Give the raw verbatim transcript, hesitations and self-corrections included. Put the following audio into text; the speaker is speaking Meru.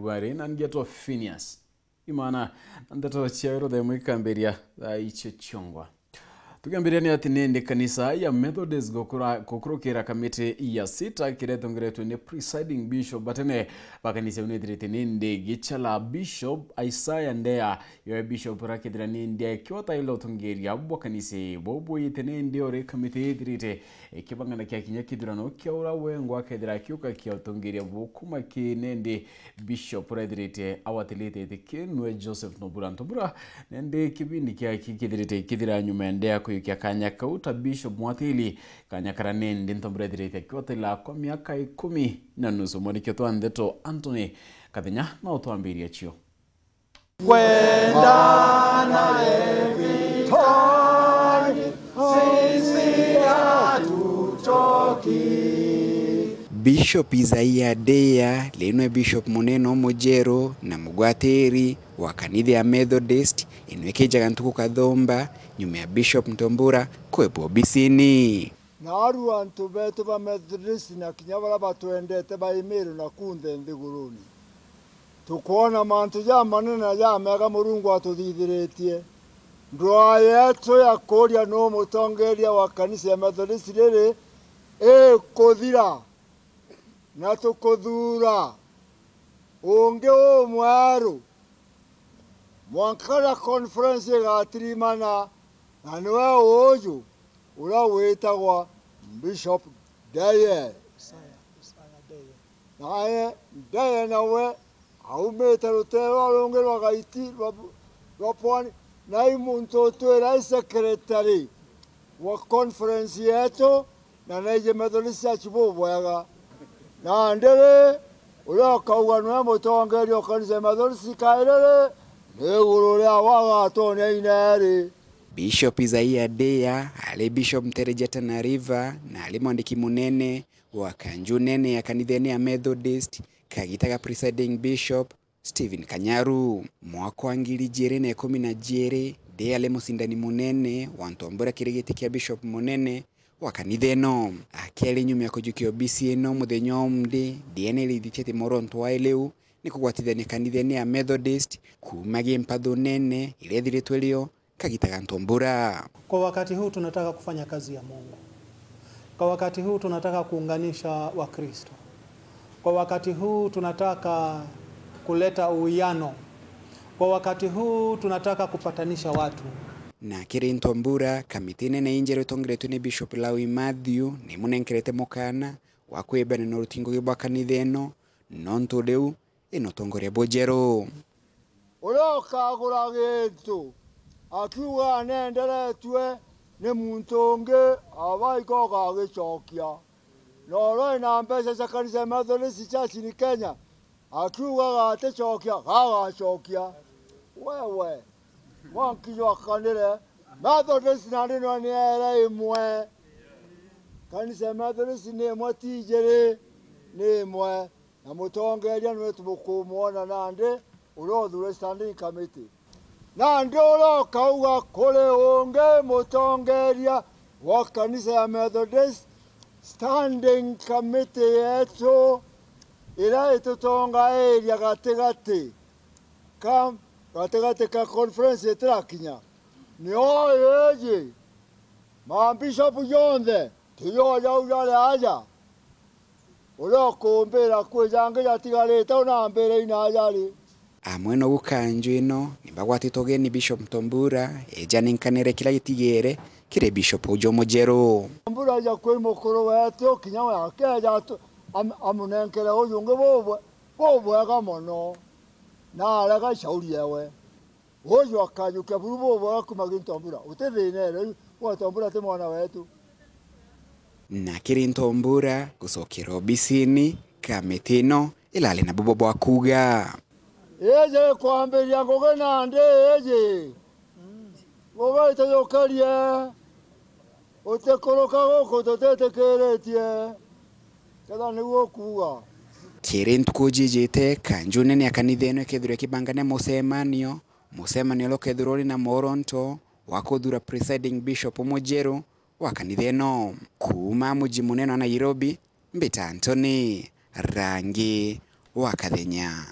Wari na ngeto Phineas. Imana, ndeto cia ruthe mwikambiria thaa icio ciongwa. Tukiambiria ni ati nindi kanisa ya Methodist gukura-, gukurukira kamiti ya sita kiria itongeretwe ni presiding bishop batene ba kanisa iu nithirite nindi gichala Bishop Isaiah Ndea. Yo Bishop rakethira nindi akiota ila utongeria bwa kanisa bubwite nindi ori kamiti ithirite ikibangana kia kinya kithurano kia ura wengwa akethira akiuka kia utongeria bukuma ki nindi Bishop ura ethirite awatilite iti kiu nwe Joseph Nobura Ntobura, nindi kibindi kiaki kithirite kithira nyuma ya Ndea kuyukia kanya kau ta Bishop mwatili, kanya kara nindi Ntobura ethirite akiwatila kwa miaka ikumi na nusu. Mwandiki wetu wa ndeto Anthony Kathenya na utwambiria cio. Kwenda naye vitani, sisi hatuchoki. Bishop Isaiah Ndea, riu nwe Bishop munene umujeru na mugwatiri wa kanitha ya Methodist, inwe kijaga ntuku kathumba nyuma ya Bishop Ntombura kwebwa obisini. Naarua antu beetu ba Methodist na kinya baria batwendete ba Imiru na kunthe nthiguruni, tukwona mantu jamanene na jamega Murungu atuthithiritie. Ndwaa yeetu ya kuuria nuu mutongeria wa kanisa ya Methodist riri ikuthira, na tukuthuura ungi umweru. Mwanka na conference igatirimana, na niwe uuju uria witagwa Bishop Ndeye. Naye Ndeye nawe aumite rutere rwa rungi rwa Gaiti rwa, rwa Pwani, na i muntu utwira i secretary wa conference yeetu, na naiji Methodist Church bubwega. Nandi ri, uria ukauga niwe mutongeria o kanisa ya Methodist kairi ri, ni iguru ria wa agatonya ineri. Bishop Isaiah Ndea ari Bishop Ntereja Tana River na ari mwandiki munene wa kanju nene ya kanithene ya Methodist, kagita ga presiding bishop Stephen Kanyaru. Mwaka wa ngiri ijiri na ikumi na jiiri, Ndea ari mucindani munene wa Ntombura kiri giti kia bishop munene wa kanitha ino. Akiari nyuma ya kujukia obisi ino muthenya umwe, Ndea ni arithitie ati mworonto wae riu ni kugwatithania kanithene ya Methodist kuuma gi mpathu nene iria ithiritwe rio kagita ga Ntombura. Kwa wakati huu tunataka kufanya kazi ya Mungu. Kwa wakati huu tunataka kuunganisha Wakristo. Kwa wakati huu tunataka kuleta uwiano. Kwa wakati huu tunataka kupatanisha watu. Na kiri Ntombura, kamiti nene injeru itongeretwe ni Bishop Lawi Mathew ni imunenkerete mukana wa kwibana na uruti ngugi bwa kanitha ino, nontu riu ina utongoria bujeru. Uria ukagura gintu akiuga nenderetue ni muntu ungi, aba iko ugagicokia. Na uria ina mbeca cia kanisa ya Methodist Church in Kenya akiuga gaticokia, gagacokia. Wewe, mwanki jwakanire, Methodist nandi no ni ere imwe. Kanisa ya Methodist ni imwe, ti ijiri, ni imwe. Na mutongeria niwe tumukumwona nandi uria uthure standing committee. Nandi uria ukauga kuri ungi mutongeria wa kanisa ya Methodist, standing committee yetu iria itutongairia gatigati ka, gatigati ka conference itirakinya, nio iji. Mambishopu jonthe tiyo jau jari aja. Uria ukumbira kwija angi jatigarite, unambire ina aja ri. Amwe nogu kanju ino ni bagwatitwe ugeni Bishop Ntombura, eja ninkanire kiria gitigere kiri Bishop uju mujeru. Ntombura aja kwi mukuru wetu, kinya we akeja atu-, am-, amunenkere uju ungi bubwe-, bubwega mono, na arega shauri ewe. Uju akajukia buru bubwega kuma gi Ntombura. Uti thina ere, uyu wa Ntombura ti mwana wetu. Na kiri Ntombura gucokera obisini, kamiti ino irari na bubo bwa kuuga. Iji kwambiria ngugi nandi iji. Ngugi itujukirie. Utikuruka guku tutitikiritie. Ketha niu ukuuga. Kiri ntuku jijite, kanju nene ya kanitha ino ikethirwa ikibangania mucemanio, mucemanio uria ukethirwa uri na mworonto wa kuthura presiding bishop mujeru wa kanitha ino. Kuuma muji munene wa Nairobi, mbita Anthony Rangi wa Kathenya.